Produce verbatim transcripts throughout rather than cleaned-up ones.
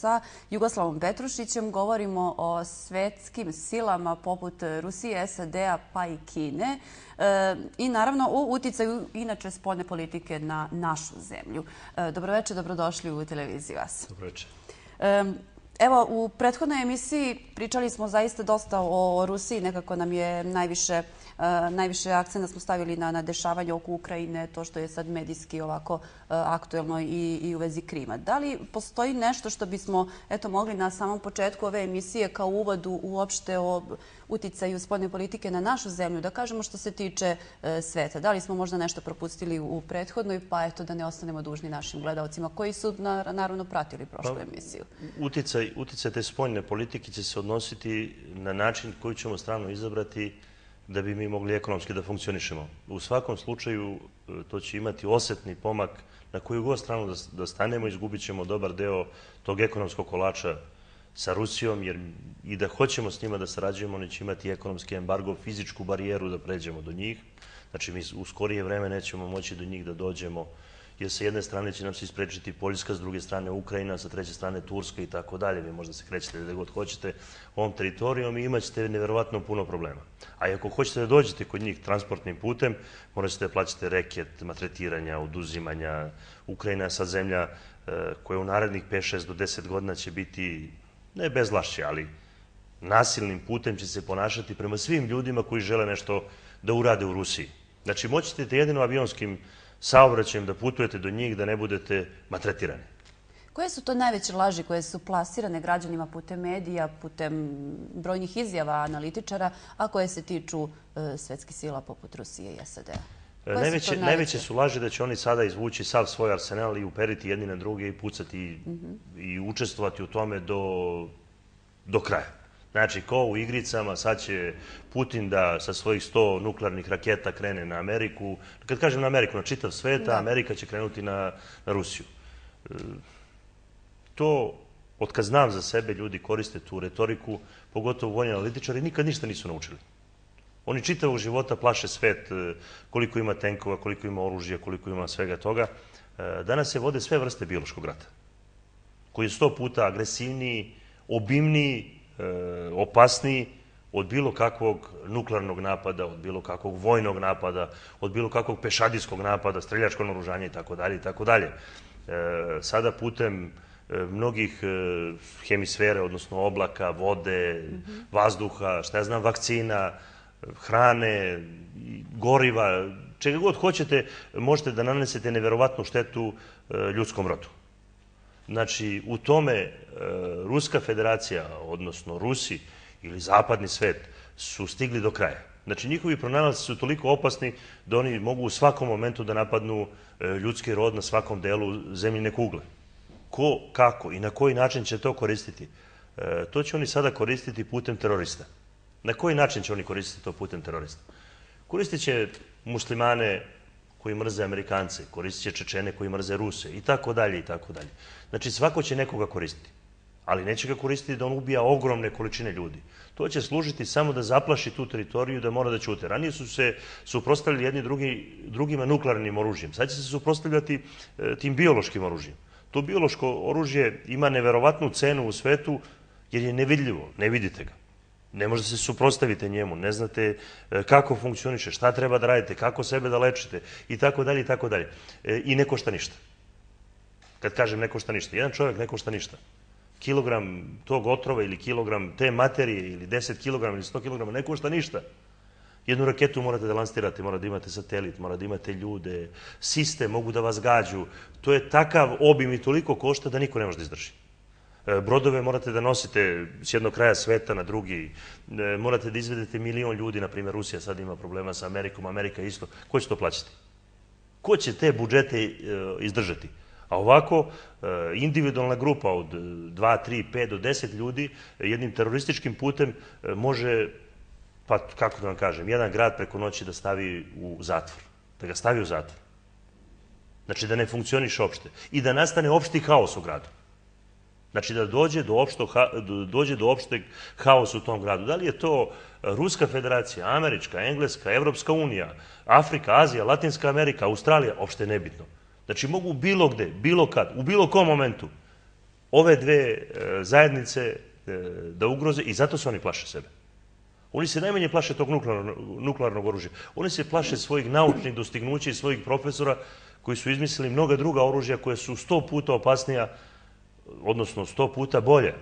sa Jugoslavom Petrušićem. Govorimo o svetskim silama poput Rusije, S A D-a pa i Kine i naravno o uticaju inače spoljne politike na našu zemlju. Dobroveče, dobrodošli u televiziji vas. Dobroveče. Evo, u prethodnoj emisiji pričali smo zaista dosta o Rusiji, nekako nam je najviše, najviše akcenta smo stavili na, na dešavanje oko Ukrajine, to što je sad medijski ovako aktuelno i, i u vezi Krima. Da li postoji nešto što bismo eto, mogli na samom početku ove emisije kao uvodu uopšte o uticaju spoljne politike na našu zemlju, da kažemo što se tiče e, sveta? Da li smo možda nešto propustili u prethodnoj, pa eto da ne ostanemo dužni našim gledalcima koji su na, naravno pratili prošlu pa, emisiju? Uticaj, uticaj te spoljne politike će se odnositi na način koji ćemo stranu izabrati da bi mi mogli ekonomski da funkcionišemo. U svakom slučaju to će imati osetni pomak na koju god stranu da, da stanemo, izgubit ćemo dobar deo tog ekonomskog kolača sa Rusijom, jer i da hoćemo s njima da sarađujemo, oni će imati ekonomski embargo, fizičku barijeru da pređemo do njih. Znači, mi u skorije vreme nećemo moći do njih da dođemo, jer sa jedne strane će nam se isprečiti Poljska, s druge strane Ukrajina, sa treće strane Turska i tako dalje. Vi možda se krećete gde god hoćete ovom teritorijom i imat ćete neverovatno puno problema. A ako hoćete da dođete kod njih transportnim putem, morat ćete da plaćate reket, maltretiranja, oduzimanja. Ukrajina je sad zemlja koja u narednih pet, šest do deset godina će biti, ne bezvlašće, ali nasilnim putem će se ponašati prema svim ljudima koji žele nešto da urade u Rusiji. Znači, moći ćete jedino avionskim saobraćajem da putujete do njih, da ne budete maltretirani. Koje su to najveće laži koje su plasirane građanima putem medija, putem brojnih izjava analitičara, a koje se tiču e, svetskih sila poput Rusije i S A D-a? Najveće, najveće su laži da će oni sada izvući sav svoj arsenal i uperiti jedni na druge i pucati i, mm-hmm. i učestvovati u tome do, do kraja. Znači, ko u igricama, sad će Putin da sa svojih sto nuklearnih raketa krene na Ameriku. Kad kažem na Ameriku, na čitav svet, a Amerika će krenuti na, na Rusiju. E, to, od kad znam za sebe, ljudi koriste tu retoriku, pogotovo vojni analitičari, nikad ništa nisu naučili. Oni čitavog života plaše svet, koliko ima tenkova, koliko ima oružja, koliko ima svega toga. Danas se vode sve vrste biološkog rata, koji je sto puta agresivniji, obimniji, opasniji od bilo kakvog nuklearnog napada, od bilo kakvog vojnog napada, od bilo kakvog pešadijskog napada, streljačkog naoružanja i tako dalje i tako dalje. Sada putem mnogih hemisfere, odnosno oblaka, vode, mm-hmm. vazduha, šta ja znam, vakcina, hrane, goriva, čega god hoćete, možete da nanesete neverovatnu štetu ljudskom rodu. Znači, u tome Ruska federacija, odnosno Rusi ili zapadni svet, su stigli do kraja. Znači, njihovi pronalasci su toliko opasni da oni mogu u svakom momentu da napadnu ljudski rod na svakom delu zemljine kugle. Ko, kako i na koji način će to koristiti? To će oni sada koristiti putem terorista. Na koji način će oni koristiti to putem terorista? Koristit će muslimane koji mrze Amerikance, koristit će Čečene koji mrze Ruse i tako dalje i tako dalje. Znači, svako će nekoga koristiti, ali neće ga koristiti da on ubija ogromne količine ljudi. To će služiti samo da zaplaši tu teritoriju, da mora da ćute. Ranije su se suprotstavljali jedni drugi, drugima nuklearnim oružjem. Sad će se suprotstavljati e, tim biološkim oružjem. To biološko oružje ima neverovatnu cenu u svetu jer je nevidljivo, ne vidite ga. Ne možete se suprotstaviti njemu, ne znate kako funkcioniše, šta treba da radite, kako sebe da lečite i tako dalje i tako dalje. I ne košta ništa. Kad kažem ne košta ništa, jedan čovjek ne košta ništa. Kilogram tog otrova ili kilogram te materije ili deset kilograma ili sto kilograma ne košta ništa. Jednu raketu morate da lansirate, morate da imate satelit, morate da imate ljude, sistem, mogu da vas gađu. To je takav obim i toliko košta da niko ne može da izdrži. Brodove morate da nosite s jednog kraja sveta na drugi, morate da izvedete milion ljudi, na primjer Rusija sad ima problema sa Amerikom, Amerika isto. Ko će to plaćati? Ko će te budžete izdržati? A ovako, individualna grupa od dva, tri, pet do deset ljudi jednim terorističkim putem može, pa kako da vam kažem, jedan grad preko noći da stavi u zatvor. Da ga stavi u zatvor. Znači da ne funkcioniše opšte. I da nastane opšti haos u gradu. Znači da dođe do, opšto, dođe do opšteg haosa u tom gradu. Da li je to Ruska federacija, Američka, Engleska, Evropska unija, Afrika, Azija, Latinska Amerika, Australija, opšte nebitno. Znači mogu bilo gde, bilo kad, u bilo kom momentu ove dve zajednice da ugroze i zato se oni plaše sebe. Oni se najmanje plaše tog nuklearnog oružja. Oni se plaše svojih naučnih dostignuća i svojih profesora koji su izmislili mnoga druga oružja koja su sto puta opasnija, odnosno sto puta bolje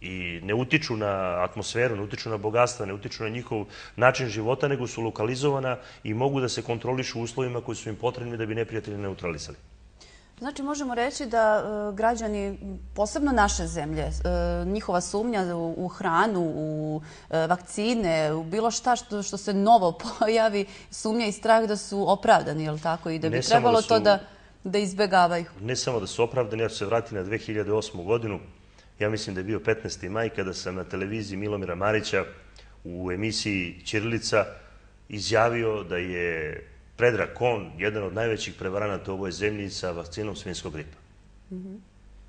i ne utiču na atmosferu, ne utiču na bogatstva, ne utiču na njihov način života, nego su lokalizovana i mogu da se kontrolišu u uslovima koji su im potrebni da bi neprijatelji neutralisali. Znači, možemo reći da građani, posebno naše zemlje, njihova sumnja u hranu, u vakcine, u bilo šta što se novo pojavi, sumnja i strah da su opravdani, je li tako? I da bi trebalo to da izbegavaju. Ne samo da su opravdani, ja ću se vratiti na dve hiljade osmu godinu. Ja mislim da je bio petnaesti maj kada sam na televiziji Milomira Marića u emisiji Ćirilica izjavio da je Predrag Kon jedan od najvećih prevaranata u ovoj zemlji sa vakcinom svinjskog gripa.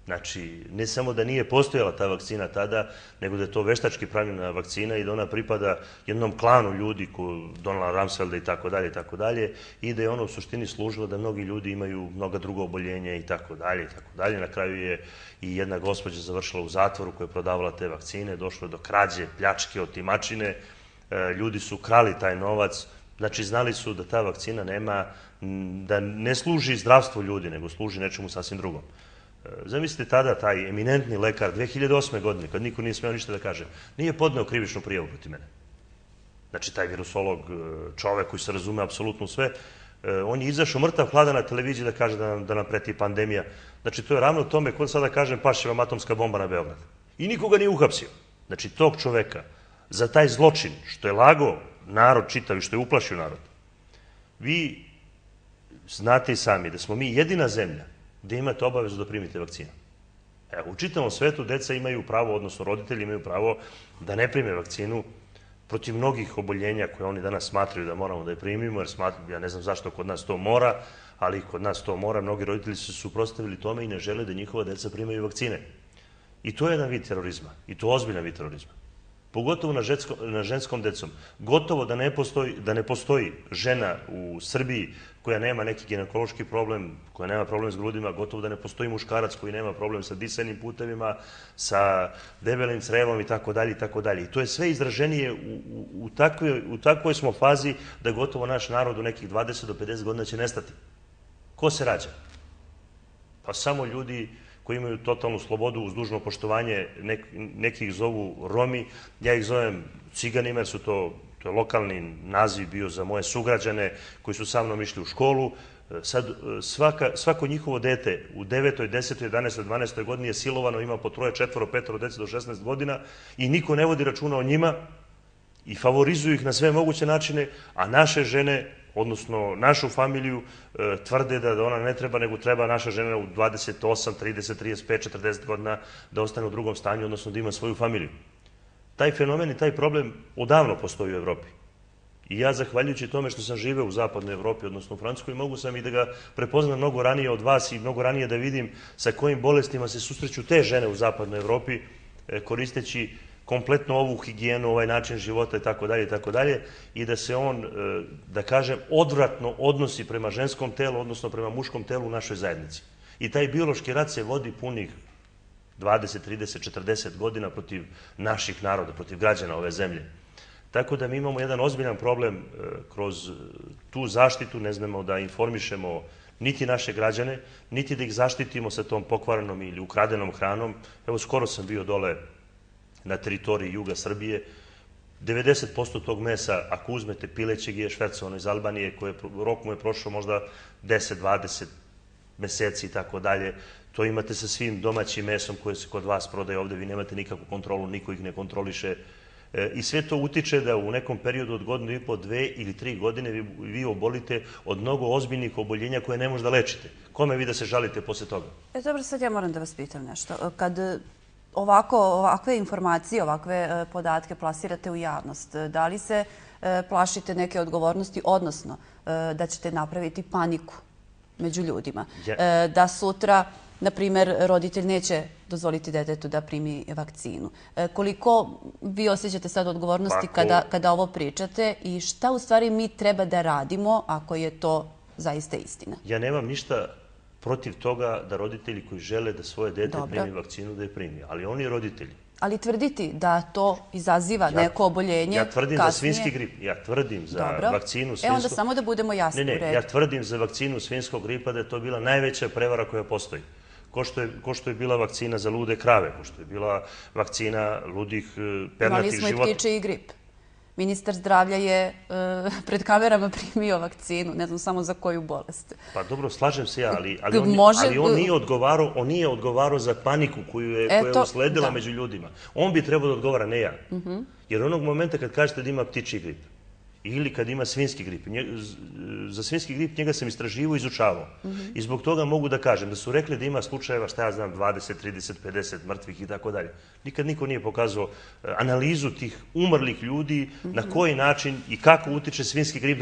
Znači, ne samo da nije postojala ta vakcina tada, nego da je to veštački pravljena vakcina i da ona pripada jednom klanu ljudi, Donalda Rumsfelda i tako dalje, i tako dalje, i da je ona u suštini služila da mnogi ljudi imaju mnoga druga oboljenja i tako dalje, i tako dalje. Na kraju je i jedna gospođa završila u zatvoru koja je prodavala te vakcine, došlo je do krađe, pljačke, otimačine, ljudi su krali taj novac. Znači, znali su da ta vakcina nema, da ne služi zdravstvu ljudi, nego služi nečemu sasvim drugom. Zamislite tada taj eminentni lekar dve hiljade osme godine, kad niko nije smeo ništa da kaže, nije podneo krivičnu prijavu protiv mene. Znači, taj virusolog, čovek koji se razume apsolutno sve, on je izašao mrtav hladan na televiziji da kaže da nam preti pandemija. Znači, to je ravno tome, kod sada kažem, pašće vam atomska bomba na Beograd. I nikoga nije uhapsio. Znači, tog čoveka, za taj zločin, što je lagao narod čitav i što je uplašio narod, vi znate i sami da smo mi jedina zemlja gde imate obavezu da primite vakcinu. U čitavom svetu deca imaju pravo, odnosno roditelji imaju pravo da ne prime vakcinu protiv mnogih oboljenja koje oni danas smatraju da moramo da je primimo, jer ja ne znam zašto kod nas to mora, ali kod nas to mora. Mnogi roditelji su se suprotstavili tome i ne žele da njihova deca primaju vakcine. I to je jedan vid terorizma, i to ozbiljan vid terorizma. Pogotovo na ženskom decom. Gotovo da ne postoji žena u Srbiji koja nema neki ginekološki problem, koja nema problem s grudima, gotovo da ne postoji muškarac koji nema problem sa disajnim putevima, sa debelim crevom i tako dalje i tako dalje. I to je sve izraženije, u takvoj smo fazi da gotovo naš narod u nekih dvadeset do pedeset godina će nestati. Ko se rađa? Pa samo ljudi koji imaju totalnu slobodu uz dužno poštovanje, neki ih zovu Romi, ja ih zovem Ciganima, jer su to, to je lokalni naziv bio za moje sugrađane koji su sa mnom išli u školu. Sad svako njihovo dete u devetoj, desetoj, jedanaestoj, dvanaestoj godini je silovano, ima po troje, četvoro, petoro dece do šesnaest godina i niko ne vodi računa o njima i favorizuju ih na sve moguće načine, a naše žene, odnosno našu familiju, tvrde da ona ne treba, nego treba naša žena u dvadeset osam, trideset, trideset pet, četrdeset godina da ostane u drugom stanju, odnosno da ima svoju familiju. Taj fenomen i taj problem odavno postoji u Evropi. I ja, zahvaljujući tome što sam živeo u zapadnoj Evropi, odnosno u Francuskoj, mogu sam i da ga prepoznam mnogo ranije od vas i mnogo ranije da vidim sa kojim bolestima se susreću te žene u zapadnoj Evropi, koristeći kompletno ovu higijenu, ovaj način života i tako dalje i tako dalje, i da se on, da kažem, odvratno odnosi prema ženskom telu, odnosno prema muškom telu u našoj zajednici. I taj biološki rat se vodi punih dvadeset, trideset, četrdeset godina protiv naših naroda, protiv građana ove zemlje. Tako da mi imamo jedan ozbiljan problem kroz tu zaštitu, ne znamo da informišemo niti naše građane, niti da ih zaštitimo sa tom pokvarenom ili ukradenom hranom. Evo, skoro sam bio dole na teritoriji juga Srbije. devedeset posto tog mesa, ako uzmete pilećeg, je švercovano iz Albanije, rok mu je prošao možda deset, dvadeset meseci i tako dalje. To imate sa svim domaćim mesom koje se kod vas prodaje ovde, vi nemate nikakvu kontrolu, niko ih ne kontroliše. I sve to utiče da u nekom periodu od godinu i po, dve ili tri godine vi obolite od mnogo ozbiljnih oboljenja koje ne možda lečite. Kome vi da se žalite posle toga? E, dobro, sad ja moram da vas pitam nešto. Kad ovakve informacije, ovakve podatke plasirate u javnost, da li se plašite neke odgovornosti, odnosno da ćete napraviti paniku među ljudima? Da sutra, na primjer, roditelj neće dozvoliti detetu da primi vakcinu. Koliko vi osjećate sad odgovornosti kada ovo pričate i šta u stvari mi treba da radimo ako je to zaista istina? Ja nemam ništa protiv toga da roditelji koji žele da svoje dete primi vakcinu, da je primi. Ali oni roditelji. Ali tvrditi da to izaziva neko oboljenje kasnije... Ja tvrdim za svinjski grip. Ja tvrdim za vakcinu svinjskog... E onda samo da budemo jasni u redu. Ne, ne, ja tvrdim za vakcinu svinjskog gripa da je to bila najveća prevara koja postoji. Ko što je bila vakcina za lude krave, ko što je bila vakcina ludih pernatih života. Imali smo i ptičiji grip. Ministar zdravlja je pred kamerama primio vakcinu, ne znam samo za koju bolest. Pa dobro, slažem se ja, ali on nije odgovarao za paniku koju je usledila među ljudima. On bi trebao da odgovara, ne ja. Jer onog momenta kad kažete da ima ptičji grip ili kad ima svinjski grip, za svinjski grip njega sam istraživao i izučavao. I zbog toga mogu da kažem da su rekli da ima slučajeva, šta ja znam, dvadeset, trideset, pedeset mrtvih i tako dalje. Nikad niko nije pokazao analizu tih umrlih ljudi, na koji način i kako utiče svinjski grip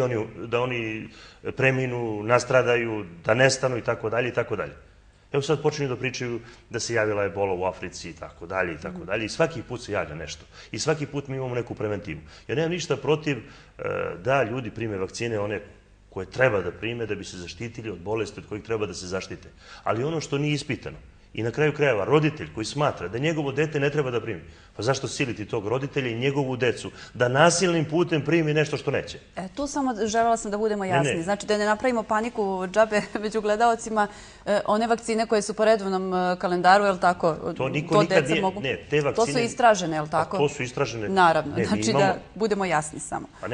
da oni preminu, nastradaju, da nestanu i tako dalje i tako dalje. Evo sad počinju da pričaju da se javila ebola u Africi i tako dalje i tako dalje. I svaki put se javlja nešto. I svaki put mi imamo neku preventivu. Ja nemam ništa protiv da ljudi prime vakcine, one koje treba da prime da bi se zaštitili od bolesti od kojih treba da se zaštite. Ali ono što nije ispitano i na kraju krajeva roditelj koji smatra da njegovo dete ne treba da primi, pa zašto siliti tog roditelja i njegovu decu da nasilnim putem primi nešto što neće? E, tu samo želela sam da budemo jasni. Znači da ne napravimo paniku džabe među gledalcima, one vakcine koje su po redovnom kalendaru, je li tako? To niko nikad nije, ne, te vakcine... To su istražene, je li tako? To su istražene. Naravno, znači da budemo jasni samo. A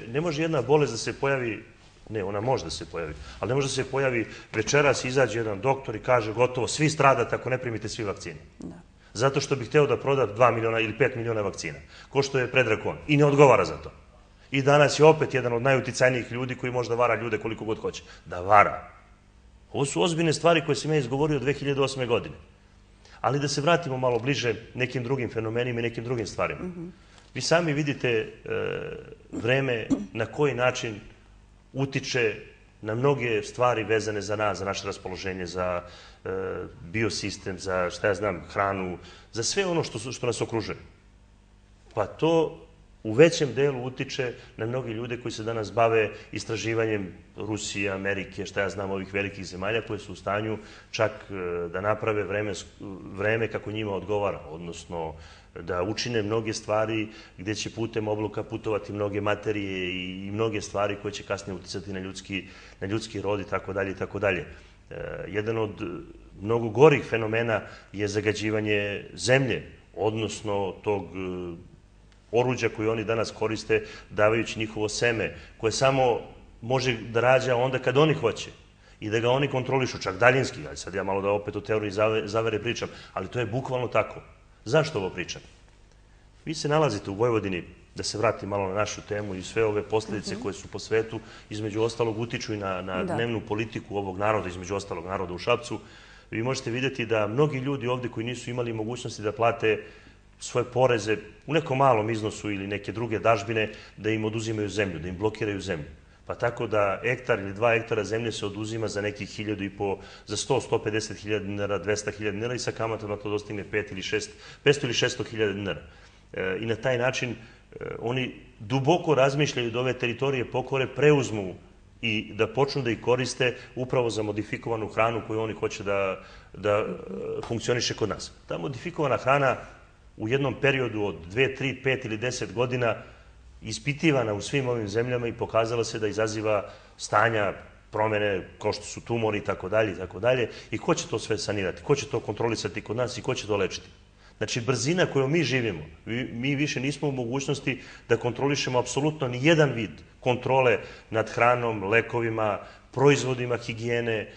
ne može jedna bolest da se pojavi. Ne, ona može da se pojavi, ali ne može da se pojavi večeras, izađe jedan doktor i kaže gotovo, svi stradate ako ne primite svi vakcine. Zato što bih hteo da proda dva miliona ili pet miliona vakcina, ko što je Predrag on, i ne odgovara za to. I danas je opet jedan od najuticajnijih ljudi koji može da vara ljude koliko god hoće. Da vara. Ovo su ozbiljne stvari koje sam ja izgovorio dve hiljade osme. godine. Ali da se vratimo malo bliže nekim drugim fenomenima i nekim drugim stvarima. Vi sami vidite vreme na koji način utiče na mnoge stvari vezane za nas, za naše raspoloženje, za biosistem, za, šta ja znam, hranu, za sve ono što nas okružuje. Pa to u većem delu utiče na mnogi ljude koji se danas bave istraživanjem Rusije, Amerike, šta ja znam, ovih velikih zemalja koje su u stanju čak da naprave vreme kako njima odgovara, odnosno da učine mnoge stvari gde će putem obloka putovati mnoge materije i mnoge stvari koje će kasnije uticati na ljudski rod i tako dalje i tako dalje. Jedan od mnogo gorih fenomena je zagađivanje zemlje, odnosno tog oruđa koje oni danas koriste davajući njihovo seme, koje samo može da rađa onda kad oni hoće i da ga oni kontrolišu, čak daljinski. Sad ja malo da opet o teoriji zavere pričam, ali to je bukvalno tako. Zašto ovo pričam? Vi se nalazite u Vojvodini, da se vratim malo na našu temu i sve ove posljedice koje su po svetu, između ostalog utiču i na dnevnu politiku ovog naroda, između ostalog naroda u Šapcu. Vi možete vidjeti da mnogi ljudi ovde koji nisu imali mogućnosti da plate svoje poreze u nekom malom iznosu ili neke druge dažbine, da im oduzimaju zemlju, da im blokiraju zemlju. Pa tako da hektar ili dva hektara zemlje se oduzima za nekih hiljadu i po, za sto, sto pedeset hiljada dinara, dvesta hiljada dinara i sa kamatama to dostigne pet ili šest, petsto ili šesto hiljada dinara. I na taj način oni duboko razmišljaju da ove teritorije pokore preuzmu i da počnu da ih koriste upravo za modifikovanu hranu koju oni hoće da funkcioniše kod nas. Ta modifikovana hrana u jednom periodu od dve, tri, pet ili deset godina ispitivana u svim ovim zemljama i pokazala se da izaziva stanja, promene, kao što su tumori i tako dalje i tako dalje. I ko će to sve sanirati? Ko će to kontrolisati kod nas i ko će to lečiti? Znači, brzina kojom mi živimo, mi više nismo u mogućnosti da kontrolišemo apsolutno ni jedan vid kontrole nad hranom, lekovima, proizvodima higijene,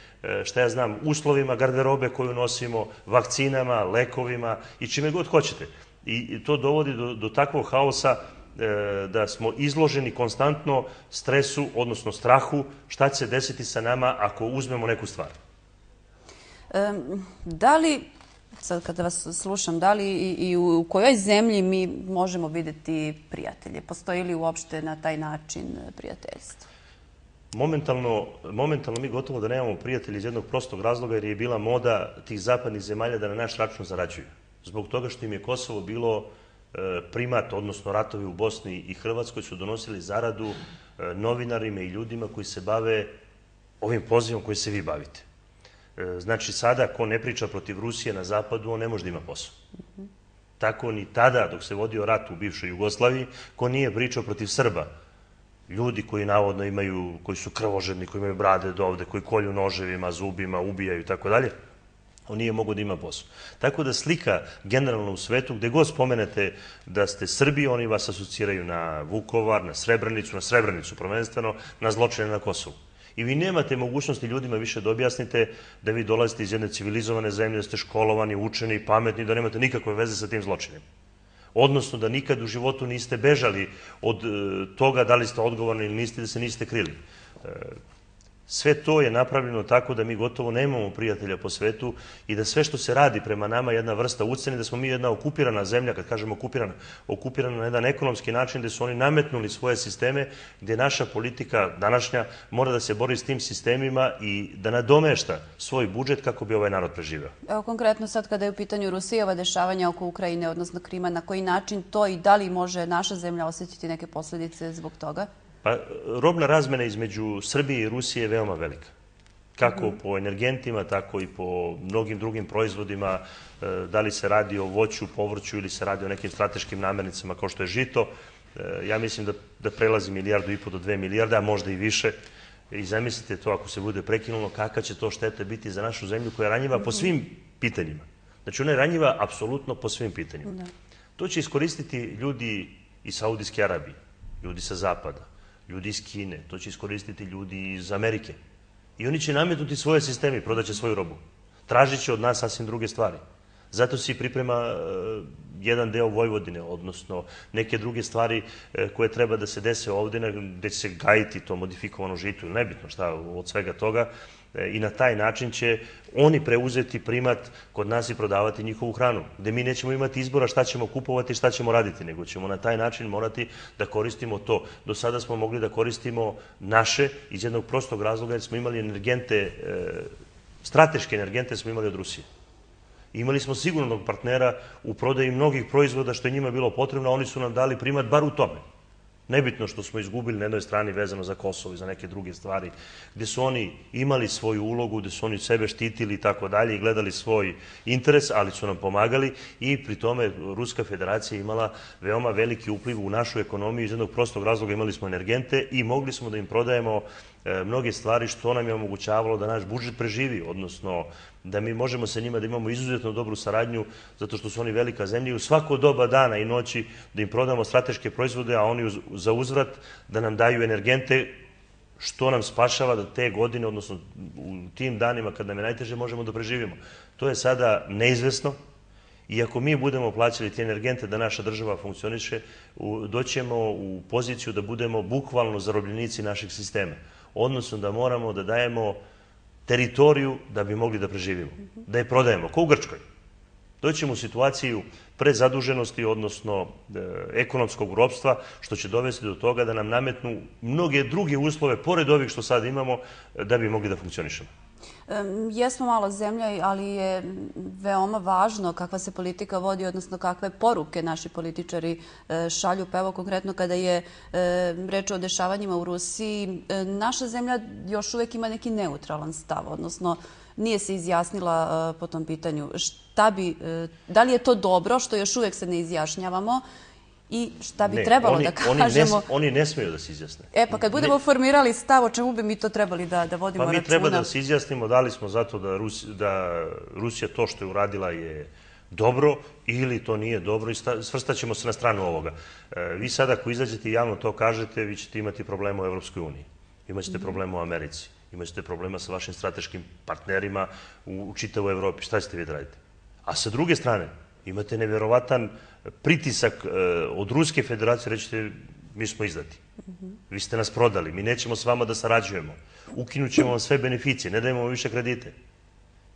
šta ja znam, uslovima garderobe koju nosimo, vakcinama, lekovima i čime god hoćete. I to dovodi do takvog haosa da smo izloženi konstantno stresu, odnosno strahu, šta će se desiti sa nama ako uzmemo neku stvar. Da li, sad kada vas slušam, da li i u kojoj zemlji mi možemo videti prijatelje? Postoji li uopšte na taj način prijateljstvo? Momentalno mi gotovo da nemamo prijatelji iz jednog prostog razloga jer je bila moda tih zapadnih zemalja da na naš račun zarađuju. Zbog toga što im je Kosovo bilo primat, odnosno ratovi u Bosni i Hrvatskoj su donosili zaradu novinarima i ljudima koji se bave ovim pozivom koji se vi bavite. Znači, sada, ko ne priča protiv Rusije na zapadu, on ne može da ima posao. Tako ni tada, dok se vodio rat u bivšoj Jugoslaviji, ko nije pričao protiv Srba, ljudi koji navodno imaju, koji su krvožedni, koji imaju brade do ovde, koji kolju noževima, zubima, ubijaju i tako dalje, on nije mogao da ima posao. Tako da slika generalno u svetu, gde god spomenete da ste Srbi, oni vas asociraju na Vukovar, na Srebrenicu, na Srebrenicu prvenstveno, na zločine na Kosovu. I vi nemate mogućnosti ljudima više da objasnite da vi dolazite iz jedne civilizovane zemlje, da ste školovani, učeni, pametni, da nemate nikakve veze sa tim zločinima. Odnosno da nikad u životu niste bežali od toga da li ste odgovorni ili niste, da se niste krili. Sve to je napravljeno tako da mi gotovo nemamo prijatelja po svetu i da sve što se radi prema nama je jedna vrsta ucene, da smo mi jedna okupirana zemlja, kad kažemo okupirana, okupirana na jedan ekonomski način, gde su oni nametnuli svoje sisteme, gde naša politika današnja mora da se bori s tim sistemima i da nadomešta svoj budžet kako bi ovaj narod preživeo. Evo konkretno sad kada je u pitanju Rusijeva dešavanja oko Ukrajine, odnosno Krima, na koji način to i da li može naša zemlja osjetiti neke posledice zbog toga? Pa, robna razmena između Srbije i Rusije je veoma velika. Kako po energentima, tako i po mnogim drugim proizvodima, da li se radi o voću, povrću ili se radi o nekim strateškim namirnicama kao što je žito. Ja mislim da, da prelazi milijardu i po do dve milijarde, a možda i više. I zamislite to ako se bude prekinulo, kakva će to šteta biti za našu zemlju koja je ranjiva po svim pitanjima. Znači ona je ranjiva apsolutno po svim pitanjima. To će iskoristiti ljudi iz Saudijske Arabije, ljudi sa zapada, ljudi iz Kine, to će iskoristiti ljudi iz Amerike. I oni će nametnuti svoje sisteme i prodaće svoju robu. Tražit će od nas sasvim druge stvari. Zato se priprema jedan deo Vojvodine, odnosno neke druge stvari koje treba da se dese ovde, gde će se gajiti to modifikovano žito ili nebitno šta od svega toga. I na taj način će oni preuzeti primat kod nas i prodavati njihovu hranu, gde mi nećemo imati izbora šta ćemo kupovati i šta ćemo raditi, nego ćemo na taj način morati da koristimo to. Do sada smo mogli da koristimo naše iz jednog prostog razloga jer smo imali energente, strateške energente smo imali od Rusije. Imali smo sigurnog partnera u prodaji mnogih proizvoda što je njima bilo potrebno, a oni su nam dali primat bar u tome. Nebitno što smo izgubili na jednoj strani vezano za Kosovo i za neke druge stvari, gde su oni imali svoju ulogu, gde su oni sebe štitili i tako dalje i gledali svoj interes, ali su nam pomagali i pri tome Ruska federacija imala veoma veliki upliv u našu ekonomiju. Iz jednog prostog razloga imali smo energente i mogli smo da im prodajemo mnoge stvari što nam je omogućavalo da naš budžet preživi, odnosno da mi možemo sa njima da imamo izuzetno dobru saradnju zato što su oni velika zemlja i u svako doba dana i noći da im prodamo strateške proizvode, a oni za uzvrat da nam daju energente što nam spašava da te godine, odnosno u tim danima kad nam je najteže možemo da preživimo. To je sada neizvesno i ako mi budemo plaćali te energente da naša država funkcioniše, doćemo u poziciju da budemo bukvalno zarobljenici našeg sistema. Odnosno da moramo da dajemo teritoriju da bi mogli da preživimo, da je prodajemo, kao u Grčkoj. Doćemo u situaciju prezaduženosti, odnosno ekonomskog ropstva, što će dovesti do toga da nam nametnu mnoge druge uslove, pored ovih što sad imamo, da bi mogli da funkcionišemo. Jesmo mala zemlja, ali je veoma važno kakva se politika vodi, odnosno kakve poruke naši političari šalju. Pa evo konkretno kada je reč o dešavanjima u Rusiji, naša zemlja još uvek ima neki neutralan stav, odnosno nije se izjasnila po tom pitanju. Šta bi, da li je to dobro što još uvek se ne izjašnjavamo i šta bi trebalo da kažemo? Oni ne smeju da se izjasne. E pa kad budemo formirali stav, o čemu bi mi to trebali da vodimo računa? Pa mi treba da se izjasnimo da li smo zato da Rusija to što je uradila je dobro ili to nije dobro i svrstaćemo se na stranu ovoga. Vi sada ako izađete i javno to kažete, vi ćete imati problema u Evropskoj uniji, imaćete problema u Americi, imaćete problema sa vašim strateškim partnerima u čitavoj Evropi. Šta ćete vi da radite? A sa druge strane, imate neverovatan pritisak od Ruske federacije, rećete mi smo izdati. Vi ste nas prodali, mi nećemo s vama da sarađujemo. Ukinut ćemo vam sve beneficije, ne dajemo vam više kredite.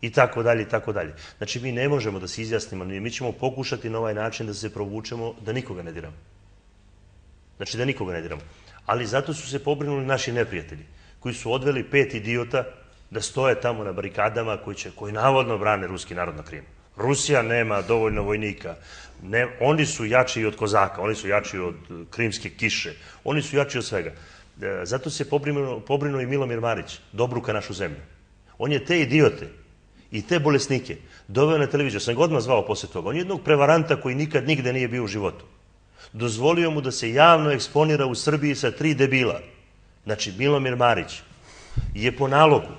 I tako dalje, i tako dalje. Znači mi ne možemo da se izjasnimo, mi ćemo pokušati na ovaj način da se provučemo da nikoga ne diramo. Znači da nikoga ne diramo. Ali zato su se pobrinuli naši neprijatelji, koji su odveli pet idiota da stoje tamo na barikadama koji navodno brane ruski narod na Krimu. Rusija nema dovoljno vojnika, oni su jači od Kozaka, oni su jači od krimske kiše, oni su jači od svega. Zato se pobrinuo i Milomir Marić, da obruka našu zemlju. On je te idiote i te bolesnike doveo na televiziju. Sam ga odmah zvao posle toga. On je jednog prevaranta koji nikad nigde nije bio u životu. Dozvolio mu da se javno eksponira u Srbiji sa tri debila. Znači, Milomir Marić je po nalogu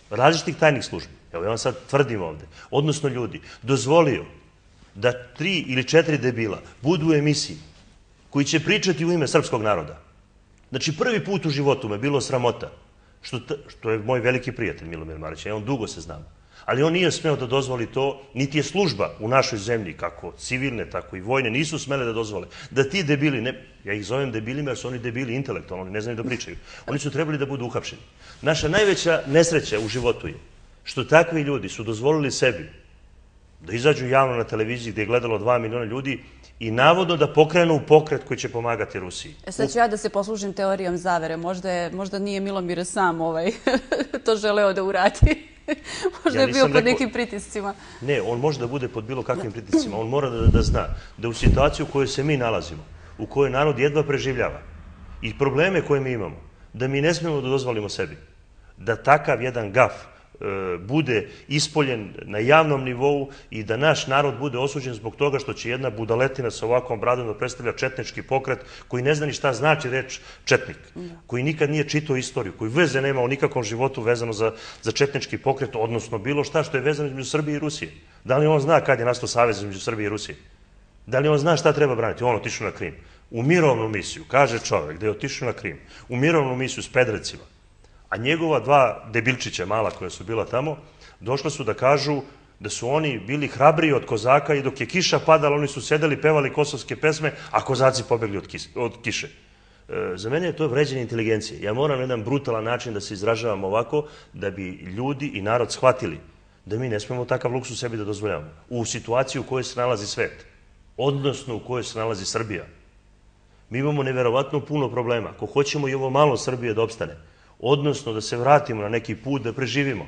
različitih tajnih službi, evo ja vam sad tvrdim ovde, odnosno ljudi, dozvolio da tri ili četiri debila budu u emisiji koji će pričati u ime srpskog naroda. Znači, prvi put u životu me bilo sramota, što, što je moj veliki prijatelj Milomir Marić, ja on dugo se znam, ali on nije smeo da dozvoli to, niti je služba u našoj zemlji, kako civilne, tako i vojne, nisu smele da dozvole, da ti debili, ne, ja ih zovem debilima jer su oni debili intelektualno, oni ne znaju da pričaju, oni su trebali da budu uhapšeni. Naša najveća nesreća u životu je što takvi ljudi su dozvolili sebi da izađu javno na televiziji gde je gledalo dva miliona ljudi i navodno da pokrenu pokret koji će pomagati Rusiji. E sad ću ja da se poslužim teorijom zavere. Možda, je, možda nije Milomir sam ovaj, to želeo da uradi. Možda je bio pod nekim pritiscima. Ne, on može da bude pod bilo kakvim pritiscima. On mora da, da zna da u situaciji u kojoj se mi nalazimo, u kojoj narod jedva preživljava i probleme koje mi imamo, da mi ne smijemo da dozvolimo sebi da takav jedan gaf bude ispoljen na javnom nivou i da naš narod bude osuđen zbog toga što će jedna budaletina sa ovakvom bradom da predstavlja četnički pokret koji ne zna ni šta znači reč četnik, koji nikad nije čitao istoriju, koji veze nema u nikakvom životu vezano za, za četnički pokret, odnosno bilo šta što je vezano između Srbije i Rusije. Da li on zna kad je nastao savez između Srbije i Rusije? Da li on zna šta treba braniti? On otišao na Krim. U mirovnu misiju, kaže čovek da je otišao na Krim, u mirovnu misiju s Pedrecima, a njegova dva debilčića mala koja su bila tamo, došla su da kažu da su oni bili hrabriji od kozaka i dok je kiša padala, oni su sedeli, pevali kosovske pesme, a kozaci pobegli od, kis, od kiše. E, za mene je to vređenje inteligencije. Ja moram na jedan brutalan način da se izražavam ovako, da bi ljudi i narod shvatili da mi ne smemo takav luksus sebi da dozvoljavamo. U situaciji u kojoj se nalazi svet, odnosno u kojoj se nalazi Srbija. Mi imamo neverovatno puno problema. Ako hoćemo i ovo malo Srbije da opstane, odnosno da se vratimo na neki put, da preživimo,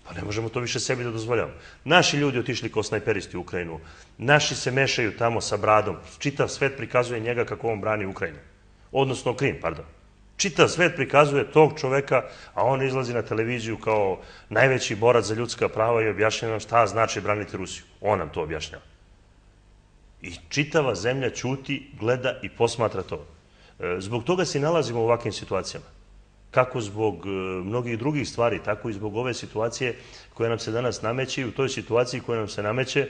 pa ne možemo to više sebi da dozvoljavamo. Naši ljudi otišli kao snajperisti u Ukrajinu, naši se mešaju tamo sa bradom, čitav svet prikazuje njega kako on brani Ukrajinu, odnosno Krim, pardon. Čitav svet prikazuje tog čoveka, a on izlazi na televiziju kao najveći borac za ljudska prava i objašnjava nam šta znači braniti Rusiju. On nam to objašnjava. I čitava zemlja ćuti, gleda i posmatra to. Zbog toga se nalazimo u ovakvim situacijama. Kako zbog mnogih drugih stvari, tako i zbog ove situacije koja nam se danas nameće i u toj situaciji koja nam se nameće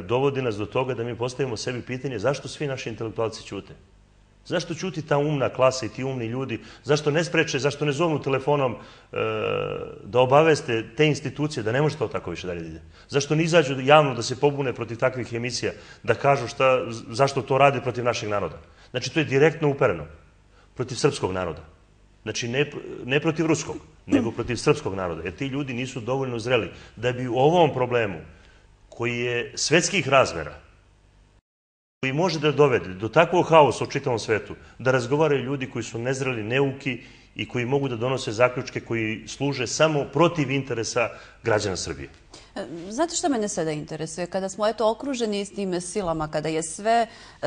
dovodi nas do toga da mi postavimo sebi pitanje zašto svi naši intelektualci ćute? Zašto ćuti ta umna klasa i ti umni ljudi? Zašto ne spreče, zašto ne zovnu telefonom da obaveste te institucije da ne može to tako više dalje da ide? Zašto ne izađu javno da se pobune protiv takvih emisija, da kažu šta, zašto to rade protiv našeg naroda? Znači, to je direktno upereno protiv srpskog naroda. Znači, ne, ne protiv ruskog, nego protiv srpskog naroda. Jer ti ljudi nisu dovoljno zreli da bi u ovom problemu, koji je svetskih razmera, koji može da dovede do takvog haosa u čitavom svetu, da razgovaraju ljudi koji su nezreli, neuki i koji mogu da donose zaključke koji služe samo protiv interesa građana Srbije. Znate što mene sada interesuje? Kada smo eto okruženi s tim silama, kada je sve e,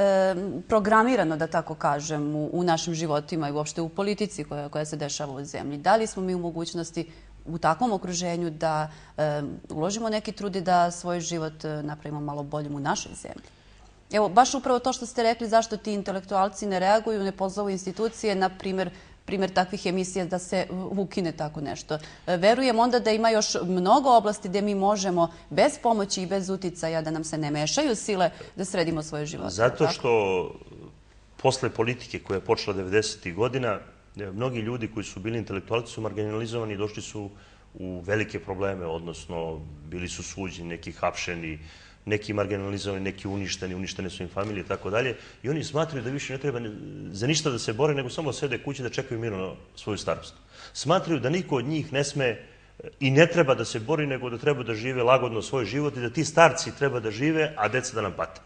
programirano, da tako kažem, u, u našim životima i uopšte u politici koja, koja se dešava u zemlji, da li smo mi u mogućnosti u takvom okruženju da e, uložimo neki trud i da svoj život napravimo malo boljim u našoj zemlji? Evo, baš upravo to što ste rekli, zašto ti intelektualci ne reaguju, ne pozovu institucije, na primjer, primjer takvih emisija da se ukine tako nešto. Verujem onda da ima još mnogo oblasti gde mi možemo bez pomoći i bez uticaja da nam se ne mešaju sile da sredimo svoje živote. Zato što posle politike koja je počela devedesetih godina, mnogi ljudi koji su bili intelektualci su marginalizovani i došli su u velike probleme, odnosno bili su suđeni, neki hapšeni, neki marginalizovani, neki uništeni, uništene su im familije i tako dalje. I oni smatraju da više ne treba za ništa da se bore, nego samo sede kući da čekaju mirno svoju starost. Smatraju da niko od njih ne sme i ne treba da se bori, nego da treba da žive lagodno svoj život i da ti starci treba da žive, a deca da nam pate.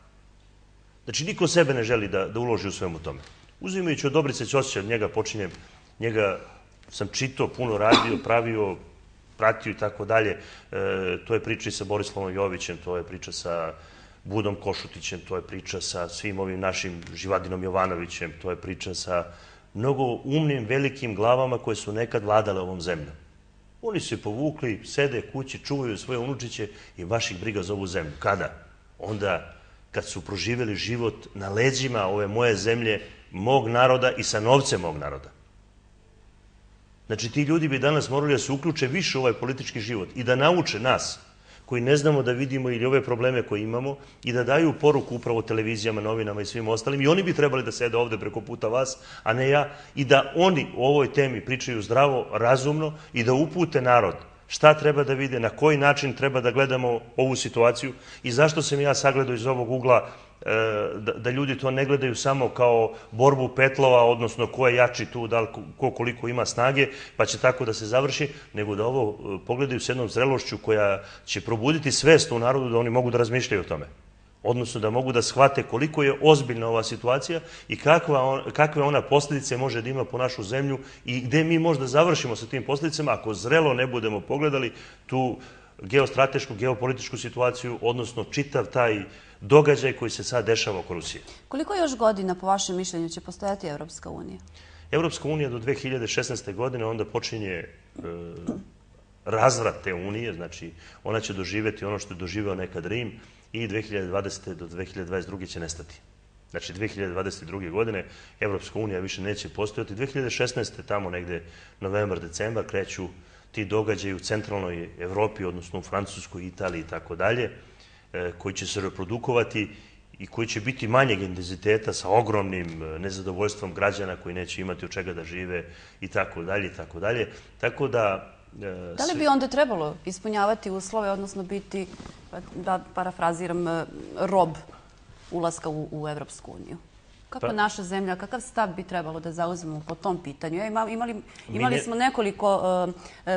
Znači, niko sebe ne želi da, da uloži u svemu tome. Uzimajući od Dobrice Ćosića, od njega počinjem, njega sam čitao, puno radio, pravio, pratio i tako dalje. To je priča i sa Borislavom Jovićem, to je priča sa Budom Košutićem, to je priča sa svim ovim našim Živadinom Jovanovićem, to je priča sa mnogo umnim, velikim glavama koje su nekad vladale ovom zemljom. Oni su se povukli, sede kući, čuvaju svoje unučiće i baš ih briga za ovu zemlju. Kada? Onda kad su proživjeli život na leđima ove moje zemlje, mog naroda i sa novcem mog naroda. Znači, ti ljudi bi danas morali da se uključe više u ovaj politički život i da nauče nas, koji ne znamo da vidimo ili ove probleme koje imamo, i da daju poruku upravo televizijama, novinama i svim ostalim. I oni bi trebali da sede ovde preko puta vas, a ne ja, i da oni o ovoj temi pričaju zdravo, razumno i da upute narod šta treba da vide, na koji način treba da gledamo ovu situaciju i zašto sam ja sagledao iz ovog ugla da ljudi to ne gledaju samo kao borbu petlova, odnosno ko je jači tu, da li ko koliko ima snage, pa će tako da se završi, nego da ovo pogledaju s jednom zrelošću koja će probuditi svest u narodu da oni mogu da razmišljaju o tome. Odnosno da mogu da shvate koliko je ozbiljna ova situacija i kakve ona posljedice može da ima po našu zemlju i gde mi možda završimo sa tim posljedicama ako zrelo ne budemo pogledali tu geostratešku, geopolitičku situaciju, odnosno čitav taj događaj koji se sad dešava oko Rusije. Koliko još godina, po vašem mišljenju, će postojati Evropska unija? Evropska unija do dve hiljade šesnaeste. godine onda počinje razvrat te unije, znači ona će doživjeti ono što je doživeo nekad Rim i dve hiljade dvadesete. do dve hiljade dvadeset druge. će nestati. Znači, dve hiljade dvadeset druge. godine Evropska unija više neće postojati. dve hiljade šesnaeste. tamo negde novembar, decembar kreću ti događaji u centralnoj Evropi, odnosno u Francuskoj, Italiji i tako dalje, koji će se reprodukovati i koji će biti manjeg intenziteta sa ogromnim nezadovoljstvom građana koji neće imati od čega da žive i tako dalje i tako dalje. Tako da... Da li bi onda trebalo ispunjavati uslove, odnosno biti, da parafraziram, rob ulaska u Evropsku uniju? Kako naša zemlja, kakav stav bi trebalo da zauzmemo po tom pitanju? Imali smo nekoliko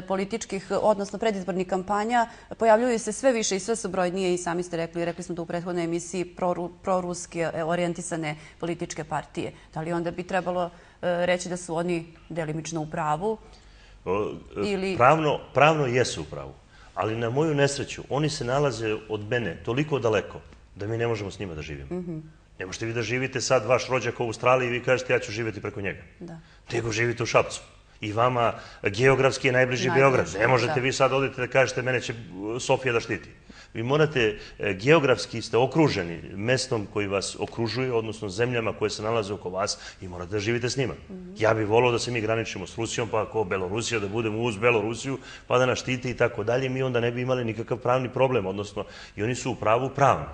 političkih, odnosno predizbornih kampanja, pojavljuju se sve više i sve su brojnije i sami ste rekli, rekli smo da u prethodnoj emisiji proruske orijentisane političke partije. Da li onda bi trebalo reći da su oni delimično u pravu? Pravno jesu u pravu, ali na moju nesreću oni se nalaze od mene toliko daleko da mi ne možemo s njima da živimo. Ne možete vi da živite sad vaš rođak u Australiji i vi kažete ja ću živjeti preko njega. Nego živite u Šapcu. I vama geografski je najbliži Beograd. Ne možete vi sad odete da kažete mene će Sofija da štiti. Vi morate, geografski ste okruženi mestom koji vas okružuje, odnosno zemljama koje se nalaze oko vas i morate da živite s njima. Ja bih volao da se mi graničimo s Rusijom, pa ako Belorusija, da budemo uz Belorusiju, pa da nas štiti i tako dalje, mi onda ne bi imali nikakav pravni problem, odnosno i oni su u pravu pravno,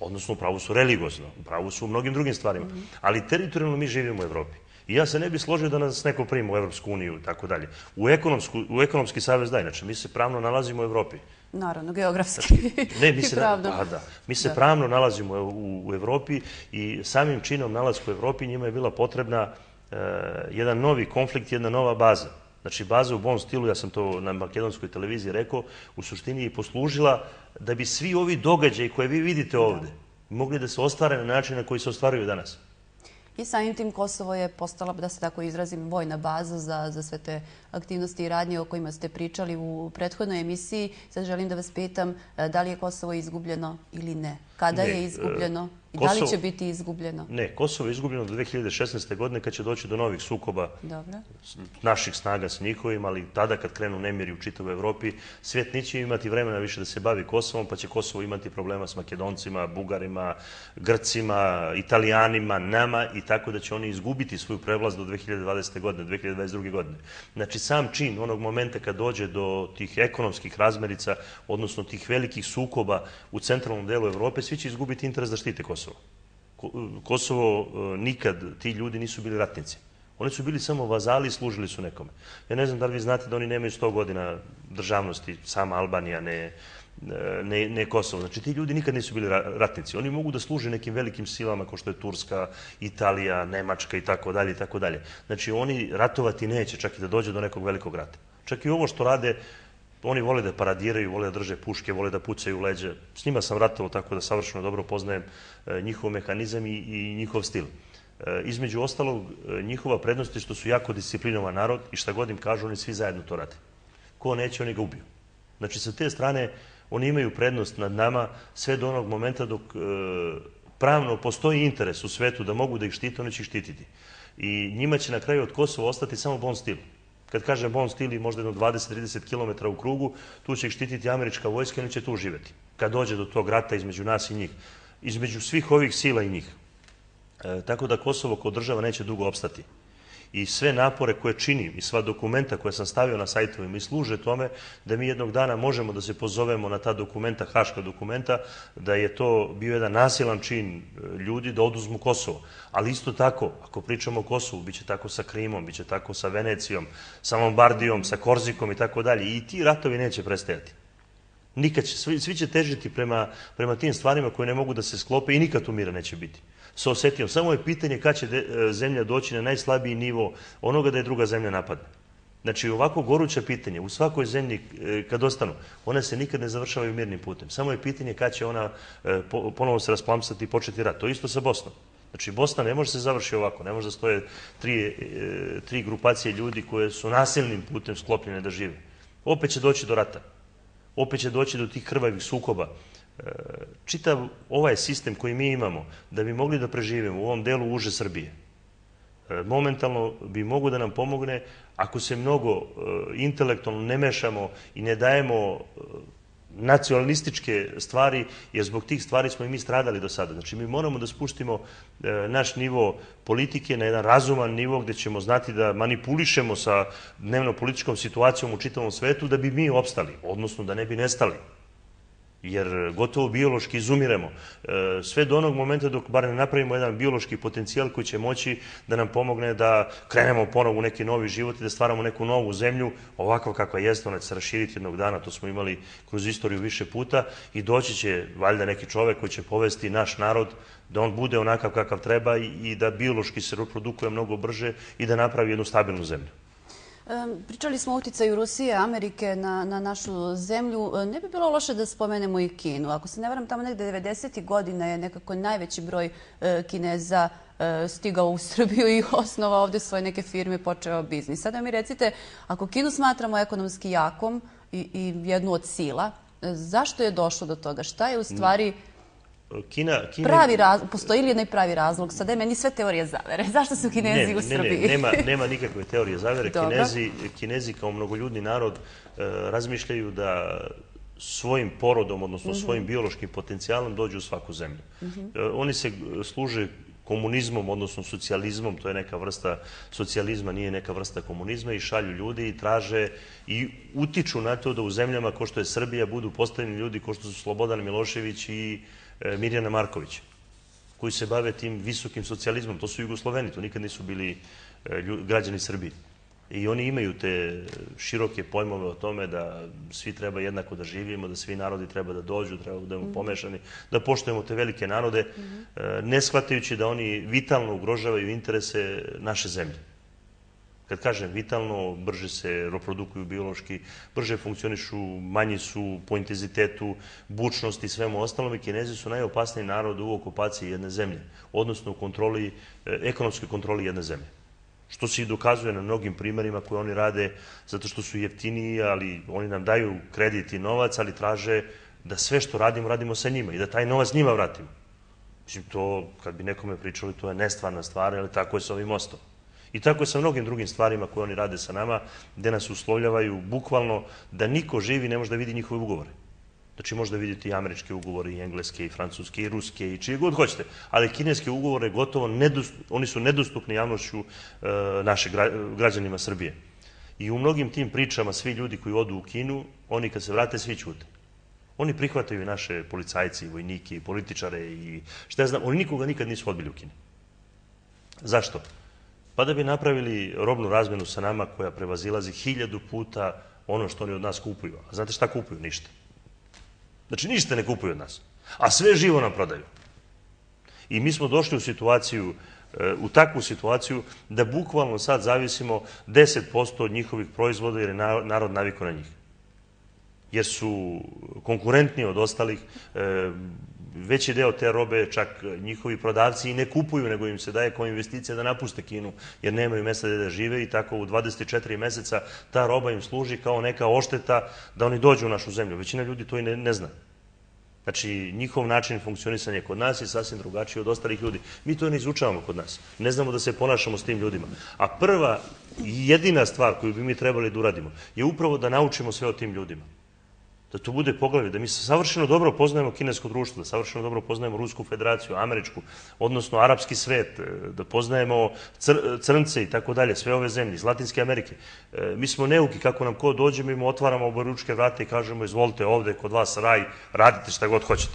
odnosno u pravu su religiozno, u pravu su u mnogim drugim stvarima, ali teritorijalno mi živimo u Evropi. I ja se ne bih složio da nas neko prima u Evropsku uniju i tako dalje. U ekonomski savez da, inače, mi se pravno nalazimo u Evropi. Naravno, geografski i pravno. Da, mi se pravno nalazimo u Evropi i samim činom nalazka u Evropi njima je bila potrebna jedan novi konflikt, jedna nova baza. Znači, baza u Bon stilu, ja sam to na makedonskoj televiziji rekao, u suštini je poslužila da bi svi ovi događaji koje vi vidite ovde mogli da se ostvare na način na koji se ostvaruju danas. I samim tim Kosovo je postala, da se tako izrazim, vojna baza za sve te aktivnosti i radnje o kojima ste pričali u prethodnoj emisiji. Sad želim da vas pitam da li je Kosovo izgubljeno ili ne. Kada je izgubljeno i da li će biti izgubljeno? Ne, Kosovo je izgubljeno do dve hiljade šesnaeste. godine kad će doći do novih sukoba naših snaga s njihovim, ali tada kad krenu nemiri u čitavoj Evropi, svijet neće imati vremena više da se bavi Kosovom, pa će Kosovo imati problema s Makedoncima, Bugarima, Grcima, Italijanima, nama i tako da će oni izgubiti svoju prevlast do dve hiljade dvadesete. godine, dve hiljade dvadeset druge. godine. Znači, sam čin onog momenta kad dođe do tih ekonomskih razmerica, odnosno tih velikih sukoba u centralnom delu Evrope, svi će izgubiti interes da štite Kosovo. Kosovo nikad, ti ljudi nisu bili ratnici. Oni su bili samo vazali i služili su nekome. Ja ne znam da li vi znate da oni nemaju sto godina državnosti, sama Albanija, ne Kosovo. Znači, ti ljudi nikad nisu bili ratnici. Oni mogu da služe nekim velikim silama kao što je Turska, Italija, Nemačka i tako dalje i tako dalje. Znači, oni ratovati neće, čak i da dođe do nekog velikog rata. Čak i ovo što rade, oni vole da paradiraju, vole da drže puške, vole da pucaju u leđe. S njima sam ratovao tako da savršeno dobro poznajem njihov mehanizam i njihov stil. Između ostalog, njihova prednost je što su jako disciplinovan narod i šta god im kažu, oni svi zajedno to rade. Ko neće, oni ga ubiju. Znači, sa te strane, oni imaju prednost nad nama sve do onog momenta dok pravno postoji interes u svetu da mogu da ih štite, oni će ih štititi. I njima će na kraju od Kosova ostati samo Bon stil. Kad kažem Bond Steel, možda jedno dvadeset do trideset kilometara u krugu, tu će ih štititi američka vojska i oni će tu živjeti. Kad dođe do tog rata između nas i njih. Između svih ovih sila i njih. E, tako da Kosovo kao država neće dugo opstati. I sve napore koje činim i sva dokumenta koje sam stavio na sajtovima i služe tome da mi jednog dana možemo da se pozovemo na ta dokumenta, haška dokumenta, da je to bio jedan nasilan čin ljudi da oduzmu Kosovo. Ali isto tako, ako pričamo o Kosovu, bit će tako sa Krimom, bit će tako sa Venecijom, sa Lombardijom, sa Korzikom i tako dalje. I ti ratovi neće prestajati. Nikad će, svi, svi će težiti prema, prema tim stvarima koje ne mogu da se sklope i nikad tu mira neće biti. Sa Osetijom. Samo je pitanje kad će de, zemlja doći na najslabiji nivo onoga da je druga zemlja napadne. Znači, ovako goruća pitanje u svakoj zemlji kad ostanu, one se nikad ne završavaju mirnim putem. Samo je pitanje kad će ona ponovo se rasplamsati i početi rat. To je isto sa Bosnom. Znači, Bosna ne može se završiti ovako. Ne može da stoje tri, tri grupacije ljudi koje su nasilnim putem sklopljene da žive. Opet će doći do rata. Opet će doći do tih krvavih sukoba. Čitav ovaj sistem koji mi imamo, da bi mogli da preživimo u ovom delu uže Srbije, momentalno bi mogo da nam pomogne ako se mnogo intelektualno ne mešamo i ne dajemo nacionalističke stvari, jer zbog tih stvari smo i mi stradali do sada. Znači, mi moramo da spuštimo naš nivo politike na jedan razuman nivo gde ćemo znati da manipulišemo sa dnevno-političkom situacijom u čitavom svetu da bi mi opstali, odnosno da ne bi nestali. Jer gotovo biološki izumiremo. Sve do onog momenta dok bar ne napravimo jedan biološki potencijal koji će moći da nam pomogne da krenemo ponovo u neki novi život i da stvaramo neku novu zemlju, ovakva kakva jeste, ona će se raširiti jednog dana, to smo imali kroz istoriju više puta i doći će valjda neki čovek koji će povesti naš narod da on bude onakav kakav treba i da biološki se reprodukuje mnogo brže i da napravi jednu stabilnu zemlju. Pričali smo o uticaju Rusije, Amerike na, na našu zemlju. Ne bi bilo loše da spomenemo i Kinu. Ako se ne varam, tamo negde devedesetih godina je nekako najveći broj Kineza stigao u Srbiju i osnovao ovde svoje neke firme, počeo biznis. Sada mi recite, ako Kinu smatramo ekonomski jakom i, i jednu od sila, zašto je došlo do toga? Šta je u stvari... Kina, Kina... Pravi razlog, postoji li jedan pravi razlog? Sada je meni sve teorije zavere. Zašto su Kinezi ne, u Srbiji? Ne, ne, nema, nema nikakve teorije zavere. Kinezi, Kinezi kao mnogoljudni narod razmišljaju da svojim porodom, odnosno mm-hmm. svojim biološkim potencijalom dođu u svaku zemlju. Mm-hmm. Oni se služe komunizmom, odnosno socijalizmom, to je neka vrsta socijalizma, nije neka vrsta komunizma, i šalju ljudi i traže i utiču na to da u zemljama kao što je Srbija budu postavljeni ljudi kao što su Slobodan Milošević i Mirjana Marković, koji se bave tim visokim socijalizmom. To su Jugosloveni, to nikad nisu bili građani Srbije. I oni imaju te široke pojmove o tome da svi treba jednako da živimo, da svi narodi treba da dođu, treba da budemo pomešani, da poštujemo te velike narode, ne shvatajući da oni vitalno ugrožavaju interese naše zemlje. Kad kažem vitalno, brže se reprodukuju biološki, brže funkcionišu, manji su po intenzitetu, bučnosti i svemu ostalom, i Kinezi su najopasniji narod u okupaciji jedne zemlje, odnosno u kontroli, ekonomskoj kontroli jedne zemlje. Što se i dokazuje na mnogim primerima koje oni rade, zato što su jeftiniji, ali oni nam daju kredit i novac, ali traže da sve što radimo, radimo sa njima i da taj novac njima vratimo. Mislim, to, kad bi nekome pričali, to je nestvarna stvar, ali tako je sa ovim mostom. I tako je sa mnogim drugim stvarima koje oni rade sa nama, gde nas uslovljavaju bukvalno da niko živi ne može da vidi njihove ugovore. Znači, možda vidite i američke ugovore, i engleske, i francuske, i ruske, i čije god hoćete. Ali kineske ugovore gotovo, oni su nedostupni javnošću naše građanima Srbije. I u mnogim tim pričama svi ljudi koji odu u Kinu, oni kad se vrate, svi ćute. Oni prihvataju i naše policajci, i vojnike, i političare, i šta ja znam, oni nikoga nikad nisu odbili u Kini. Zašto? Pa da bi napravili robnu razmenu sa nama koja prevazilazi hiljadu puta ono što oni od nas kupuju. A znate šta kupuju? Ništa. Znači, ništa ne kupuju od nas. A sve živo nam prodaju. I mi smo došli u situaciju, u takvu situaciju, da bukvalno sad zavisimo deset posto od njihovih proizvoda jer je narod navikao na njih. Jer su konkurentni od ostalih, veći deo te robe čak njihovi prodavci i ne kupuju, nego im se daje kao investicija da napuste Kinu, jer nemaju mesta gde da žive, i tako u dvadeset četiri meseca ta roba im služi kao neka ošteta da oni dođu u našu zemlju. Većina ljudi to i ne, ne zna. Znači, njihov način funkcionisanja kod nas je sasvim drugačiji od ostalih ljudi. Mi to ne izučavamo kod nas. Ne znamo da se ponašamo s tim ljudima. A prva i jedina stvar koju bi mi trebali da uradimo je upravo da naučimo sve o tim ljudima. Da to bude poglavlje, da mi savršeno dobro poznajemo kinesko društvo, da savršeno dobro poznajemo Rusku federaciju, američku, odnosno arapski svet, da poznajemo crnce i tako dalje, sve ove zemlje iz Latinske Amerike. Mi smo neuki, kako nam ko dođe, mi mu otvaramo oboručke vrate i kažemo izvolite ovde, kod vas raj, radite šta god hoćete.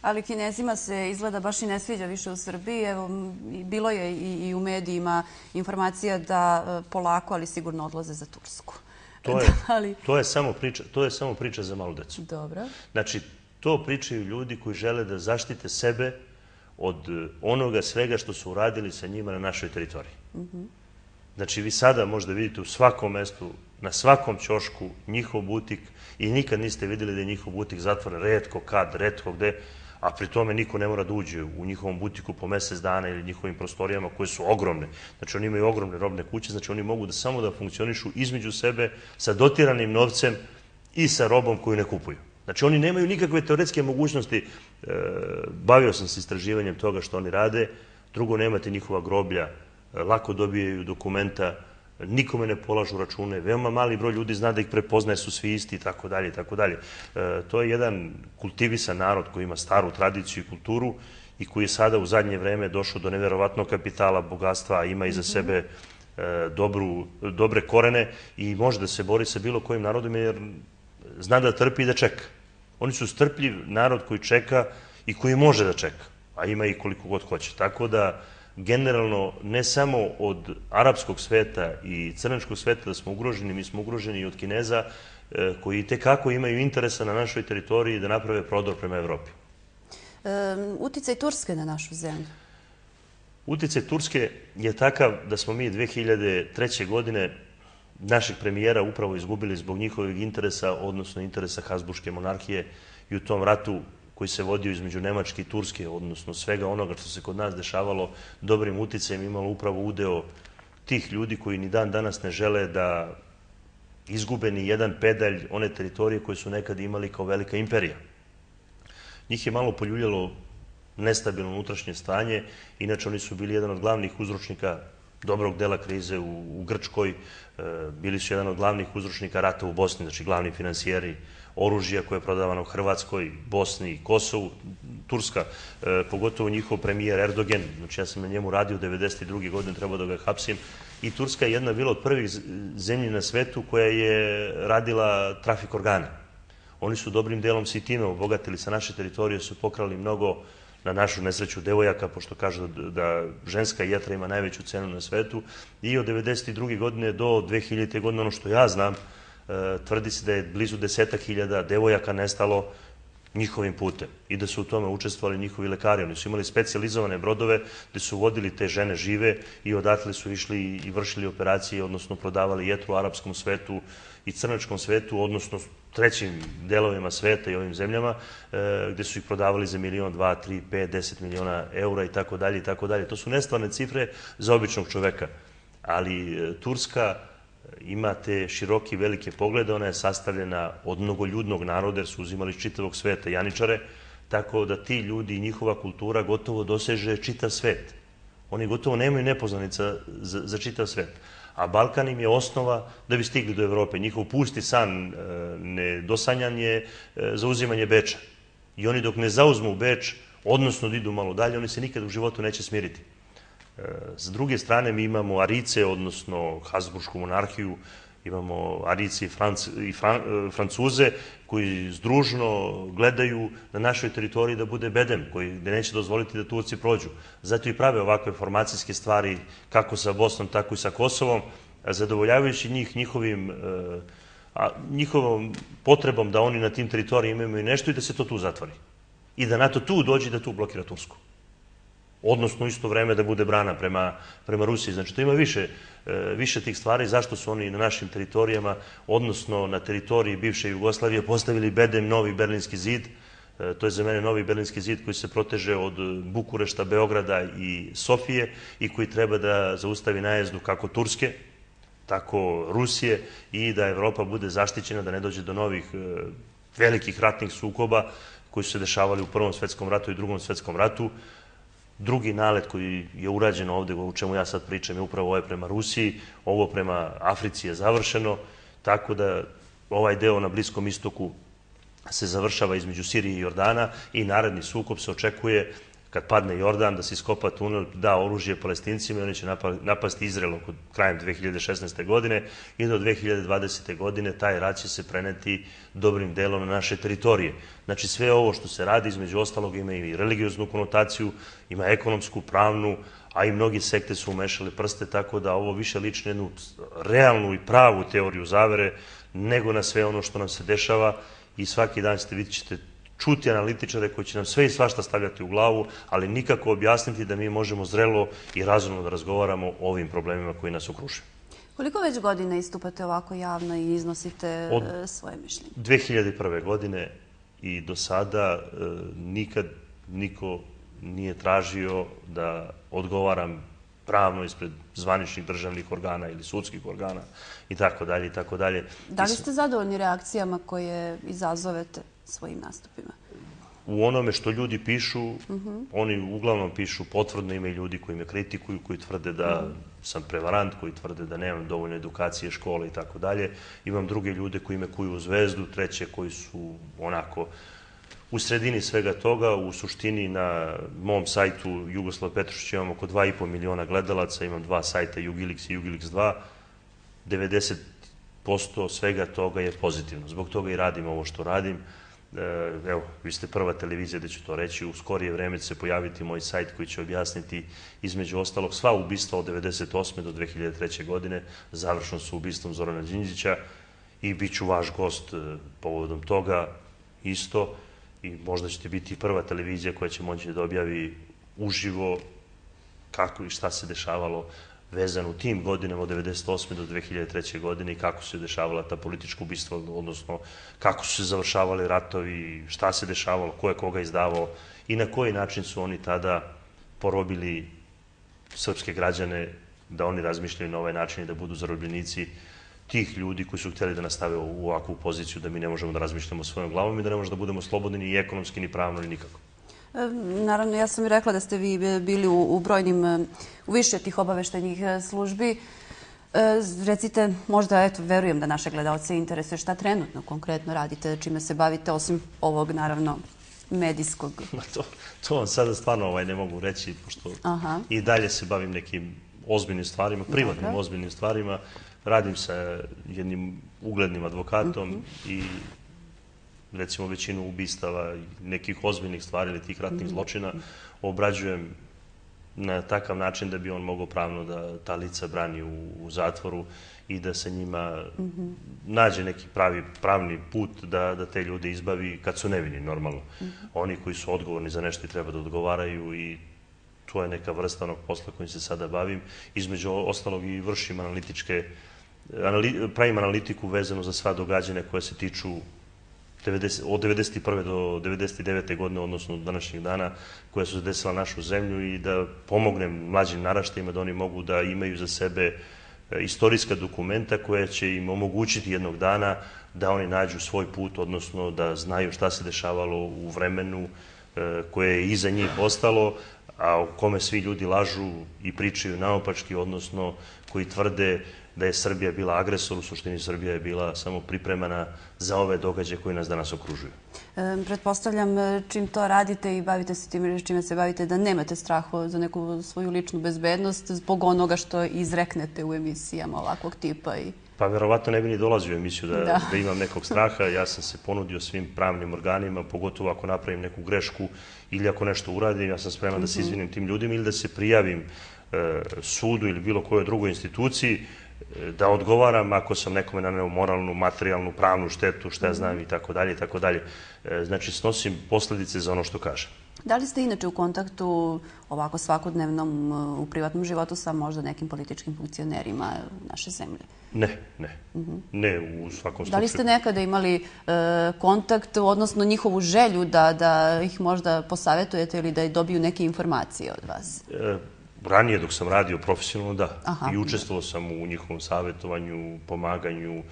Ali Kinezima se izgleda baš i ne sviđa više u Srbiji. Evo, bilo je i u medijima informacija da polako, ali sigurno odlaze za Tursku. To je, to je samo priča, to je samo priča za malu decu. Dobro. Znači, to pričaju ljudi koji žele da zaštite sebe od onoga svega što su uradili sa njima na našoj teritoriji. Znači, vi sada možda vidite u svakom mestu, na svakom ćošku njihov butik i nikad niste vidjeli da je njihov butik zatvoren, retko kad, retko gde, a pri tome niko ne mora da uđe u njihovom butiku po mesec dana ili njihovim prostorijama koje su ogromne. Znači, oni imaju ogromne robne kuće, znači oni mogu da samo da funkcionišu između sebe sa dotiranim novcem i sa robom koju ne kupuju. Znači, oni nemaju nikakve teoretske mogućnosti. Bavio sam se istraživanjem toga što oni rade. Drugo, nemate njihova groblja, lako dobijaju dokumenta, nikome ne polažu račune, veoma mali broj ljudi zna da ih prepoznaje, su svi isti i tako dalje i tako dalje. To je jedan kultivisan narod koji ima staru tradiciju i kulturu i koji je sada u zadnje vreme došao do neverovatnog kapitala, bogatstva, ima iza sebe dobre korene i može da se bori sa bilo kojim narodom jer zna da trpi i da čeka. Oni su strpljiv narod koji čeka i koji može da čeka, a ima i koliko god hoće. Tako da generalno, ne samo od arapskog sveta i crnačkog sveta da smo ugroženi, mi smo ugroženi i od Kineza koji tekako imaju interesa na našoj teritoriji da naprave prodor prema Evropi. Uticaj Turske na našu zemlju? Uticaj Turske je takav da smo mi dve hiljade treće. godine našeg premijera upravo izgubili zbog njihovih interesa, odnosno interesa Habsburške monarhije i u tom ratu koji se vodio između Nemačke i Turske, odnosno svega onoga što se kod nas dešavalo, dobrim uticajem imalo upravo udeo tih ljudi koji ni dan danas ne žele da izgube ni jedan pedalj one teritorije koje su nekad imali kao velika imperija. Njih je malo poljuljalo nestabilno unutrašnje stanje, inače oni su bili jedan od glavnih uzročnika dobrog dela krize u Grčkoj, bili su jedan od glavnih uzročnika rata u Bosni, znači glavni finansijeri oružja koje je prodavano u Hrvatskoj, Bosni i Kosovu, Turska, pogotovo njihov premijer Erdogan, znači ja sam na njemu radio devedeset druge. godine, trebao da ga hapsim, i Turska je jedna bila od prvih zemlji na svetu koja je radila trafik organa. Oni su dobrim delom se i time obogatili sa naše teritorije, su pokrali mnogo, na našu nesreću, devojaka, pošto kažu da ženska jetra ima najveću cenu na svetu, i od devedeset druge. godine do dve hiljadite. godine, ono što ja znam, tvrdi se da je blizu desetak hiljada devojaka nestalo njihovim putem i da su u tome učestvovali njihovi lekari. Oni su imali specijalizovane brodove gde su vodili te žene žive i odatle su išli i vršili operacije, odnosno prodavali jetru u arapskom svetu i crnačkom svetu, odnosno trećim delovima sveta i ovim zemljama, gde su ih prodavali za milion, dva, tri, pet, deset miliona eura i tako dalje i tako dalje. To su nestvarne cifre za običnog čoveka. Ali Turska ima te široke i velike poglede, ona je sastavljena od mnogoljudnog naroda jer su uzimali iz čitavog sveta janičare, tako da ti ljudi i njihova kultura gotovo doseže čitav svet. Oni gotovo nemaju nepoznanica za čitav svet. A Balkan im je osnova da bi stigli do Evrope. Njihov pusti san, nedosanjan je zauzimanje Beča. I oni dok ne zauzmu Beč, odnosno da idu malo dalje, oni se nikad u životu neće smiriti. S druge strane, mi imamo Arice, odnosno Habsburšku monarhiju, imamo Arice i Francuze koji združno gledaju na našoj teritoriji da bude bedem, koji neće dozvoliti da Turci prođu. Zato i prave ovakve formacijske stvari kako sa Bosnom, tako i sa Kosovom, zadovoljavajući njih njihovom potrebom da oni na tim teritorijima imaju nešto i da se to tu zatvori. I da NATO tu dođe i da tu blokira Tursku. Odnosno u isto vreme da bude brana prema Rusiji. Znači, to ima više tih stvari. Zašto su oni na našim teritorijama, odnosno na teritoriji bivše Jugoslavije, postavili bedem novi Berlinski zid. To je za mene novi Berlinski zid koji se proteže od Bukurešta, Beograda i Sofije i koji treba da zaustavi najezdu kako Turske, tako Rusije i da Evropa bude zaštićena, da ne dođe do novih velikih ratnih sukoba koji su se dešavali u Prvom svetskom ratu i Drugom svetskom ratu. Drugi nalet koji je urađen ovde, o čemu ja sad pričam, je upravo ovo prema Rusiji, ovo prema Africi je završeno, tako da ovaj deo na Bliskom istoku se završava između Sirije i Jordana i naredni sukob se očekuje kad padne Jordan, da se iskopa tunel, da oružje Palestincima i oni će napasti Izrael oko krajem dve hiljade šesnaeste. godine i do dve hiljade dvadesete. godine taj rat će se preneti dobrim delom na naše teritorije. Znači sve ovo što se radi, između ostalog, ima i religioznu konotaciju, ima ekonomsku, pravnu, a i mnogi sekte su umešali prste, tako da ovo više liči na jednu realnu i pravu teoriju zavere nego na sve ono što nam se dešava i svaki dan ćete vidjeti ćete čuti analitičare koji će nam sve i svašta stavljati u glavu, ali nikako objasniti da mi možemo zrelo i razumno da razgovaramo o ovim problemima koji nas okružuju. Koliko već godina istupate ovako javno i iznosite svoje mišljenje? Od dve hiljade prve. godine i do sada nikad niko nije tražio da odgovaram pravno ispred zvaničnih državnih organa ili sudskih organa i tako dalje i tako dalje. Da li ste zadovoljni reakcijama koje izazovete svojim nastupima? U onome što ljudi pišu, oni uglavnom pišu potvrdno, ima i ljudi koji me kritikuju, koji tvrde da sam prevarant, koji tvrde da nemam dovoljno edukacije, škole i tako dalje. Imam druge ljude koji me kuju u zvezdu, treće koji su onako u sredini svega toga. U suštini na mom sajtu Jugoslav Petrušić imam oko dva i po miliona gledalaca, imam dva sajta Jugiliks i Jugiliks dva. devedeset posto svega toga je pozitivno. Zbog toga i radim ovo što radim. Evo, vi ste prva televizija da ću to reći. U skorije vreme će se pojaviti moj sajt koji će objasniti između ostalog sva ubistva od devedeset osme do dve hiljade treće. godine. Završeno su ubistvom Zorana Đinđića i bit ću vaš gost povodom toga isto. I možda ćete biti prva televizija koja će moći da objavi uživo kako i šta se dešavalo vezano u tim godinama od devedeset osme do dve hiljade treće. godine i kako se dešavala ta politička ubistva, odnosno kako su se završavali ratovi, šta se dešavalo, ko je koga izdavao i na koji način su oni tada porobili srpske građane da oni razmišljaju na ovaj način i da budu zarobljenici tih ljudi koji su htjeli da nastave u ovakvu poziciju da mi ne možemo da razmišljamo svojom glavom i da ne možemo da budemo slobodni ni ekonomski, ni pravno, ni nikako. Naravno, ja sam i rekla da ste vi bili u brojnim, u više tih obaveštajnih službi. Recite, možda, eto, verujem da naše gledalce interesuje šta trenutno konkretno radite, čime se bavite, osim ovog, naravno, medijskog. To vam sada stvarno ne mogu reći, pošto i dalje se bavim nekim ozbiljnim stvarima, privatnim ozbiljnim stvarima. Radim sa jednim uglednim advokatom i recimo većinu ubistava i nekih ozbiljnih stvari ili tih ratnih zločina obrađujem na takav način da bi on mogao pravno da ta lica brani u zatvoru i da se njima nađe neki pravni put da te ljude izbavi kad su nevini, normalno. Oni koji su odgovorni za nešto i treba da odgovaraju i to je neka vrsta onog posla kojim se sada bavim. Između ostalog i vršim analitičke, pravim analitiku vezanu za sva događanja koja se tiču od devedeset prve. do devedeset devete. godine, odnosno od današnjeg dana, koja su se desila našu zemlju i da pomognem mlađim naraštajima da oni mogu da imaju za sebe istorijska dokumenta koja će im omogućiti jednog dana da oni nađu svoj put, odnosno da znaju šta se dešavalo u vremenu koje je iza njih ostalo, a u kome svi ljudi lažu i pričaju naopački, odnosno koji tvrde da je Srbija bila agresor, u suštini Srbija je bila samo pripremana za ove događaje koji nas danas okružuju. Pretpostavljam, čim to radite i bavite se tim čime se bavite, da nemate straha za neku svoju ličnu bezbednost zbog onoga što izreknete u emisijama ovakvog tipa. Pa verovatno ne bi ni dolazio u emisiju da imam nekog straha. Ja sam se ponudio svim pravnim organima, pogotovo ako napravim neku grešku ili ako nešto uradim, ja sam spreman da se izvinim tim ljudima ili da se prijavim sudu ili bilo kojoj drugoj instituciji, da odgovaram ako sam nekome naneo moralnu, materijalnu, pravnu štetu, šta ja znam i tako dalje i tako dalje. Znači, snosim posledice za ono što kažem. Da li ste inače u kontaktu ovako svakodnevnom u privatnom životu sa možda nekim političkim funkcionerima naše zemlje? Ne, ne. Ne, u svakom slučaju. Da li ste nekada imali kontakt, odnosno njihovu želju da ih možda posavetujete ili da dobiju neke informacije od vas? Ranije, dok sam radio profesionalno, da. I učestvovao sam u njihovom savjetovanju, pomaganju,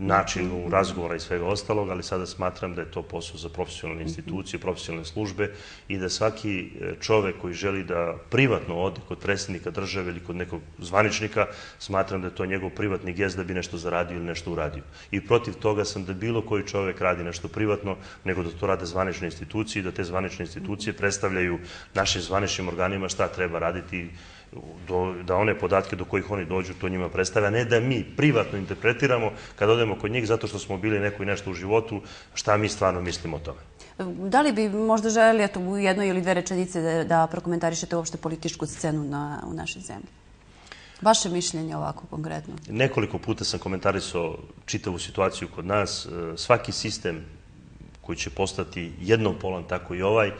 načinu razgovora i svega ostalog, ali sada smatram da je to posao za profesionalne institucije, profesionalne službe i da svaki čovek koji želi da privatno ode kod predsjednika države ili kod nekog zvaničnika, smatram da je to njegov privatni gest da bi nešto zaradio ili nešto uradio. I protiv toga sam da bilo koji čovek radi nešto privatno, nego da to rade zvanične institucije i da te zvanične institucije predstavljaju našim zvaničnim organima šta treba raditi, da one podatke do kojih oni dođu, to njima predstavlja, ne da mi privatno interpretiramo kad odemo kod njih zato što smo bili neko i nešto u životu, šta mi stvarno mislimo o tome. Da li bi možda želeli u jednoj ili dve rečenice da prokomentarišete uopšte političku scenu u našoj zemlji? Vaše mišljenje ovako konkretno? Nekoliko puta sam komentarisao čitavu situaciju kod nas. Svaki sistem koji će postati jednopolan, tako i ovaj,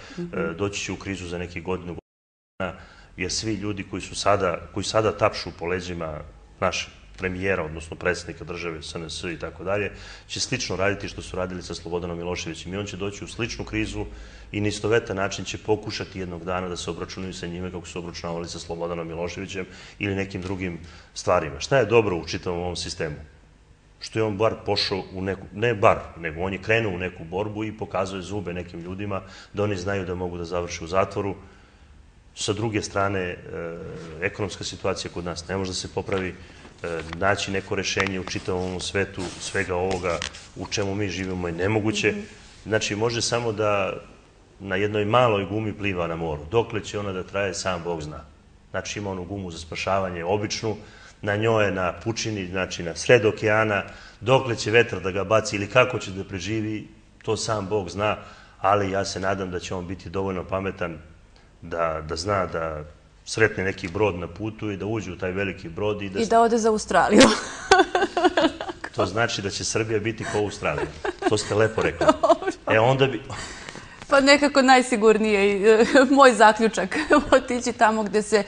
doći će u krizu za nekih godinu godina, jer svi ljudi koji su sada, koji sada tapšu po leđima našeg premijera, odnosno predsjednika države, S N S i tako dalje, će slično raditi što su radili sa Slobodanom Miloševićem i on će doći u sličnu krizu i na istovetan način će pokušati jednog dana da se obračunaju sa njime kako su obračunavali sa Slobodanom Miloševićem ili nekim drugim stvarima. Šta je dobro u čitavom ovom sistemu? Što je on bar pošao u neku, ne bar, nego on je krenuo u neku borbu i pokazuje zube nekim ljudima da oni znaju da mogu da završe u zatvoru. Sa druge strane, ekonomska situacija kod nas ne može da se popravi, naći neko rešenje u čitavom svetu svega ovoga u čemu mi živimo je nemoguće. Znači, može samo da na jednoj maloj gumi pliva na moru. Dokle će ona da traje, sam Bog zna. Znači, ima onu gumu za spašavanje običnu, na njoj je na pučini, znači na sred okeana, dokle će vetar da ga baci ili kako će da preživi, to sam Bog zna, ali ja se nadam da će on biti dovoljno pametan da zna da sretne neki brod na putu i da uđe u taj veliki brod. I da ode za Australiju. To znači da će Srbija biti kao Australija. To ste lepo rekli. E onda bi... Pa nekako najsigurnije, moj zaključak, otići tamo gde se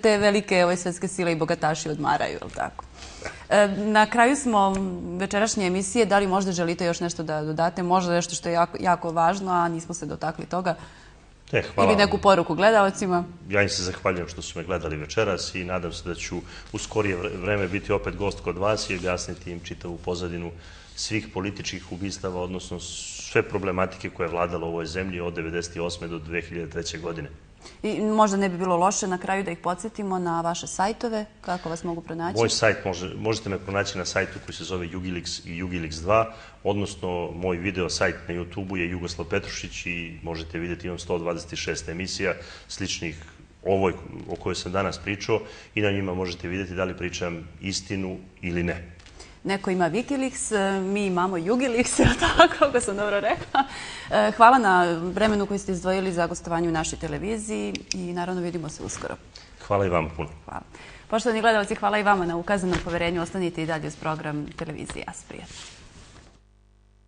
te velike svetske sile i bogataši odmaraju, je li tako? Na kraju smo večerašnje emisije, da li možda želite još nešto da dodate, možda nešto što je jako važno, a nismo se dotakli toga? Ili neku poruku gledalcima? Ja im se zahvaljujem što su me gledali večeras i nadam se da ću u skorije vreme biti opet gost kod vas i objasniti im čitavu pozadinu svih političkih ubistava, odnosno sve problematike koje je vladala u ovoj zemlji od devedeset osme do dve hiljade treće. godine. I možda ne bi bilo loše na kraju da ih podsjetimo na vaše sajtove, kako vas mogu pronaći? Moj sajt, možete me pronaći na sajtu koji se zove Jugiliks i Jugiliks dva, odnosno moj video sajt na YouTube-u je Jugoslav Petrušić i možete vidjeti, imam sto dvadeset šest emisija sličnih ovoj o kojoj sam danas pričao i na njima možete vidjeti da li pričam istinu ili ne. Neko ima Wikileaks, mi imamo Jugiliks, tako ako sam dobro rekla. Hvala na vremenu koji ste izdvojili za gostovanje u našoj televiziji i naravno vidimo se uskoro. Hvala i vama puno. Hvala. Poštovani gledalci, hvala i vama na ukazanom poverenju. Ostanite i dalje uz program televizije Asprija.